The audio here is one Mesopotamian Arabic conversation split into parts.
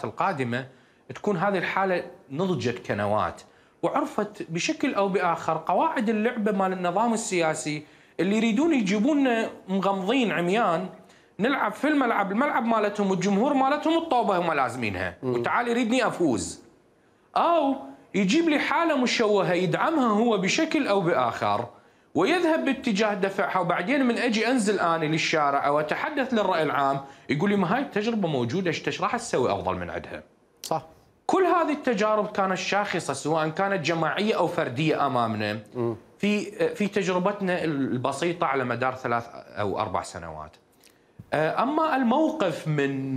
الفترات القادمة تكون هذه الحالة نضجت كنواة وعرفت بشكل أو بآخر قواعد اللعبة مال النظام السياسي اللي يريدون يجيبوننا مغمضين عميان نلعب في الملعب مالتهم والجمهور مالتهم الطوبة هم لازمينها وتعال يريدني أفوز، أو يجيب لي حالة مشوهة يدعمها هو بشكل أو بآخر ويذهب باتجاه دفعها، وبعدين من أجي أنزل أنا للشارع أو أتحدث للرأي العام يقول لي ما هاي التجربة موجودة ايش راح تسوي أفضل من عندها؟ صح. كل هذه التجارب كانت شاخصة سواء كانت جماعية أو فردية أمامنا في تجربتنا البسيطة على مدار 3 أو 4 سنوات. أما الموقف من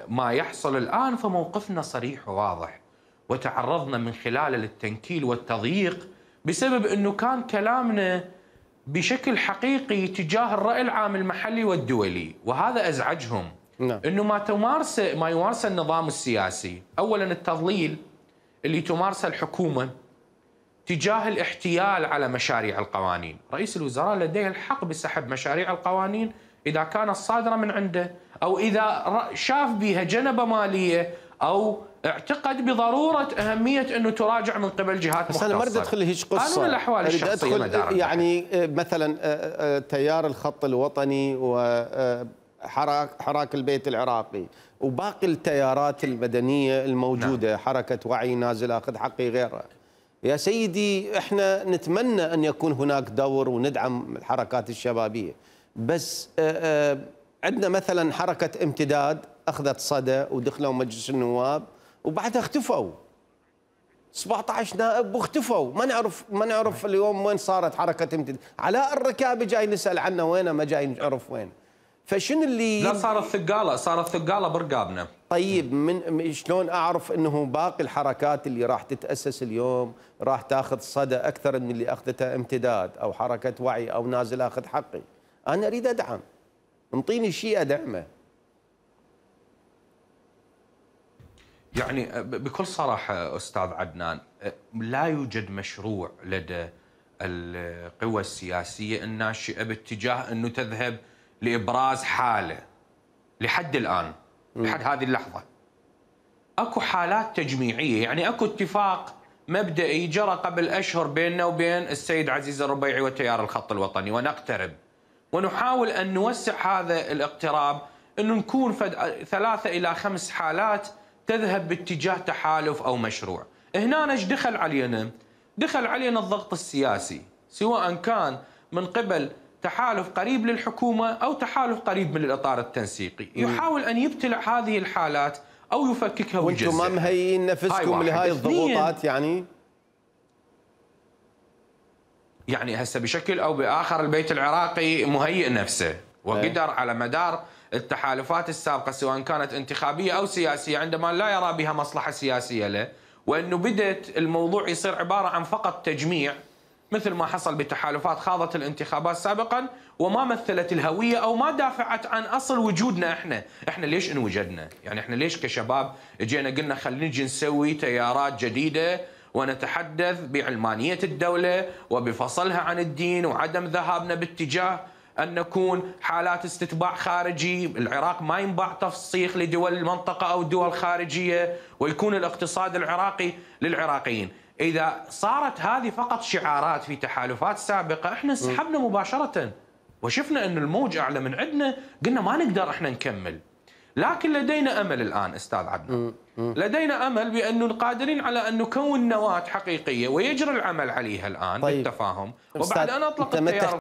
ما يحصل الآن فموقفنا صريح وواضح، وتعرضنا من خلاله للتنكيل والتضييق بسبب أنه كان كلامنا بشكل حقيقي تجاه الرأي العام المحلي والدولي، وهذا أزعجهم. أنه ما يمارسه النظام السياسي، أولا التضليل اللي تمارسه الحكومة تجاه الاحتيال على مشاريع القوانين. رئيس الوزراء لديه الحق بسحب مشاريع القوانين إذا كانت صادرة من عنده، أو إذا شاف بها جنبة مالية أو اعتقد بضرورة أهمية أنه تراجع من قبل جهات مختصة. بس أنا ما أريد أدخل هيج قصة، قانون الأحوال الشخصية يعني مثلا تيار الخط الوطني وحراك البيت العراقي وباقي التيارات المدنية الموجودة. نعم. حركة وعي، نازل أخذ حقي، غيرها. يا سيدي احنا نتمنى أن يكون هناك دور وندعم الحركات الشبابية، بس عندنا مثلا حركة امتداد أخذت صدى ودخلوا مجلس النواب وبعدها اختفوا 17 نائب واختفوا، ما نعرف اليوم وين صارت حركة امتداد. علاء الركابي جاي نسأل عنه وينه، ما جاي نعرف وين. فشنو اللي لا صارت ثقالة برقابنا. طيب من شلون اعرف انه باقي الحركات اللي راح تتأسس اليوم راح تاخذ صدى اكثر من اللي اخذته امتداد او حركة وعي او نازل اخذ حقي؟ انا اريد ادعم، انطيني شيء ادعمه. يعني بكل صراحة أستاذ عدنان، لا يوجد مشروع لدى القوى السياسية الناشئة باتجاه أنه تذهب لإبراز حالة لحد الآن، لحد هذه اللحظة. أكو حالات تجميعية، يعني أكو اتفاق مبدئي جرى قبل أشهر بيننا وبين السيد عزيز الربيعي وتيار الخط الوطني، ونقترب ونحاول أن نوسع هذا الاقتراب، أنه نكون 3 إلى 5 حالات تذهب باتجاه تحالف أو مشروع. هنا ايش دخل علينا؟ دخل علينا الضغط السياسي، سواء كان من قبل تحالف قريب للحكومة أو تحالف قريب من الإطار التنسيقي، يحاول أن يبتلع هذه الحالات أو يفككها ويجزئها. وانتم ما مهيئين نفسكم لهاي الضغوطات؟ يعني هسه بشكل أو بآخر البيت العراقي مهيئ نفسه، وقدر على مدار التحالفات السابقة سواء كانت انتخابية أو سياسية عندما لا يرى بها مصلحة سياسية له، وأنه بدأت الموضوع يصير عبارة عن فقط تجميع، مثل ما حصل بتحالفات خاضت الانتخابات سابقا وما مثلت الهوية أو ما دافعت عن أصل وجودنا. احنا ليش انوجدنا؟ يعني احنا ليش كشباب اجينا قلنا خلينا نجي نسوي تيارات جديدة ونتحدث بعلمانية الدولة وبفصلها عن الدين وعدم ذهابنا باتجاه أن نكون حالات استتباع خارجي، العراق ما ينباع تفسيخ لدول المنطقة أو دول خارجية، ويكون الاقتصاد العراقي للعراقيين. إذا صارت هذه فقط شعارات في تحالفات سابقة احنا انسحبنا مباشرة وشفنا أن الموج أعلى من عندنا، قلنا ما نقدر احنا نكمل. لكن لدينا أمل الآن أستاذ عدنان، لدينا أمل بأنه قادرين على أن نكون نواة حقيقية ويجري العمل عليها الآن بالتفاهم، وبعد أن أطلق التيار